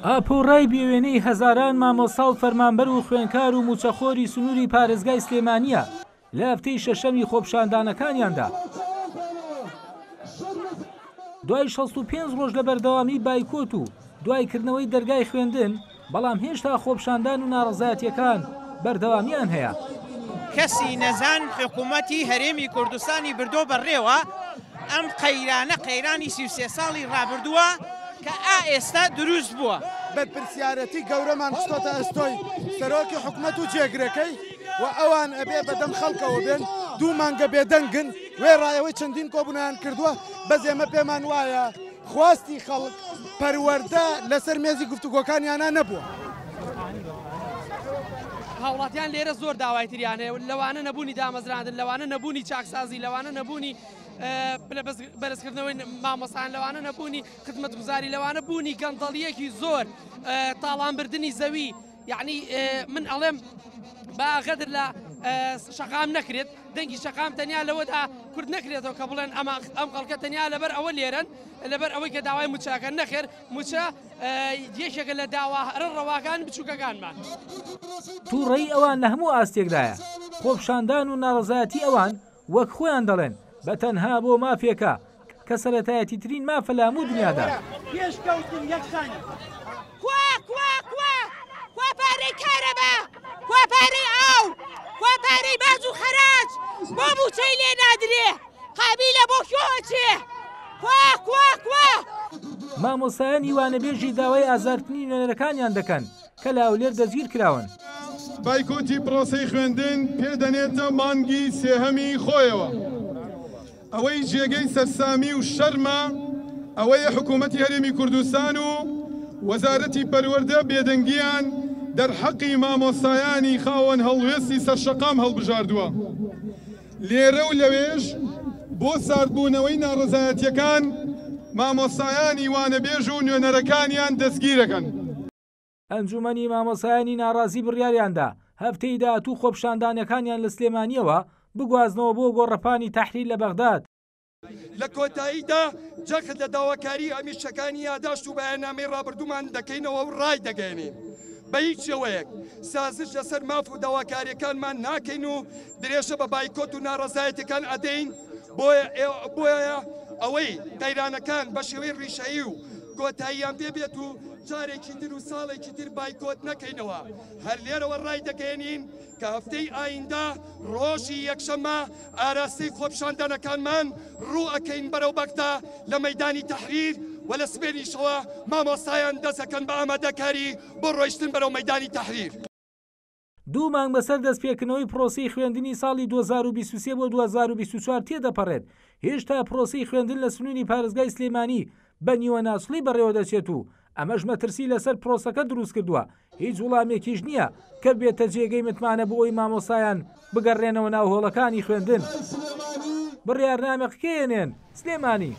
ئاپۆڕای بێوێنەی هەزاران مامۆستا و فەرمانبەر و خوێندکار و مووچەخۆری سنووری پارێزگای سلێمانییە لە هەفتەی شەشەمی خۆپیشاندانەکانیاندا. دوای 65 ڕۆژ لە بەردەوامی بایکۆت و دوای کردنەوەی دەرگای خوێندن، بەڵام هێشتا خۆپیشاندان و ناڕەزایەتییەکان بەردەوامییان هەیە. کەسی نەزان حکومەتی هەرێمی کوردستانی بردۆ بەڕێوە، ئەم قەیرانە قەیرانی 33 ساڵی ڕابردووە کە ئا ئێستا دروست بووە. بەرپرسیارەتی گەورەمان خستۆتە ئەستۆی سەرۆکی حکومەت و جێگرەکەی و ئەوان ئەبێ بەدەم خەڵکەوە بێن، دوو مانگە بێدەنگن، وێڕای ئەوەی چەندین کۆبوونەوەیان کردووە، بەس ئێمە پێمان وایە خواستی خەڵک پەروەردە لەسەر مێزی گفتوگۆکانیانا نەبووە. هاوڵاتیان لێرە زۆر داوای تریان هەیە، لەوانە نەبوونی دامەزراندن، لەوانە نەبوونی چاکسازی، لەوانە نەبوونی پلە بەرزکردنەوەی مامۆستایان، لەوانە نەبوونی خزمەتگوزاری، لەوانە بوونی گەندەڵییەکی زۆر، تاڵانبردنی زەوی، یەعنی من ئەڵێم با غەدر لە شەقام نەکرێت، دەنگی شەقام تەنیا لەوەدا کورت نەکرێتەوە کە بڵێن ئەمە ئەم خەڵکە تەنیا لەبەر ئەوە لێرەن لەبەر ئەوەی کە داوای موچەکەن، نەخێر موچە یەکێکە لە داوا هەرە ڕەواکان بچووکەکانمان. تووڕەیی ئەوان لە هەموو ئاستێکدایە، خۆپیشاندان و ناڕەزایەتی ئەوان وەک خۆیان دەڵێن بە تەنها بۆ مافێکە کە سەرەتایەتیترین مافە لە هەموو دنیادا. پێشکەوتن یەکسانی. کوا کوا کوا کوا پارەی کارەبا کوا پارەی ئاو کوا پارەی باج و خەراج بۆ مووچەی لێ نادرێ قابیلە بۆ کوێ ئەچێ کوا کوا کوا. مامۆستایانی وانەبێژی داوای ئازادکردنی نوێنەرەکانیان دەکەن کە لە هەولێر دەستگیرکراون. بایکۆتی پرۆسەی خوێندن پێ دەنێتە مانگی سێهەمی خۆیەوە. ئەوەی جێگەی سەرسامی و شەرمە ئەوەیە حکوومەتی هەرێمی کوردستان و وەزارەتی پەروەردە بێدەنگییان دەرحەقی مامۆستایانی خاوەن هەڵوێستی سەرشەقام هەڵبژاردووە. لێرە و لەوێش بۆ ساردبوونەوەی ناڕەزایەتییەکان مامۆستایانی وانەبێژ و نوێنەرەکانیان دەستگیرەکەن. ئەنجومەنی مامۆستایانی ناڕازی بڕیاریاندا هەفتەی داهاتوو خۆپیشاندانەکانیان لە سلێمانییەوە بگوازنەوە بۆ گۆڕەپانی تەحریر لە بەغداد. لە کۆتاییدا جەخت لە داواکاریی هەمیشەکانی یاداشت و بەیاننامەی ڕابردوومان دەکەینەوە و ڕایدەگەیەنین بە هیچ شێوەیەک سازش لەسەر ماف و داواکارییەکانمان ناکەین و درێژە بە بایکۆت و ناڕەزایەتیەکان ئەدەین، بۆیە ئەوەی قەیرانەکان بە شێوەی ڕیشەیی و کۆتاییان پێ بێت و جارێکی تر و ساڵێکی تر بایکۆت نەکەینەوە، هەر لێرەوە ڕایدەگەیەنین کە هەفتەی ئایندە ڕۆژی یەکشەممە ئاراستەی خۆپیشاندانەکانمان ڕوو ئەکەین بەرەو بەغدا لە مەیدانی تەحریر و لە سبێنیشەوە مامۆستایان دەست ئەکەن بە ئامادەکاری بۆ ڕۆیشتن بەرەو مەیدانی تەحریر. دوو مانگ بەسەر دەستپێکردنەوەی پرۆسەی خوێندنی ساڵی 2023 بۆ 2024 تێدەپەڕێت، هێشتا پرۆسەی خوێندن لە سنووری پارێزگای سلێمانی بە نیوەناچڵی بەڕێوەدەچێت و ئەمەش مەترسی لەسەر پرۆسەکە دروستکردووە، هیچ وڵامێکیش نییە کە ببێتە جێگەی متمانە بۆ ئەوەی مامۆستایان بگەڕێنەوە ناو هۆڵەکانی خوێندن. بڕیارنامە قکێنێن. سلێمانی.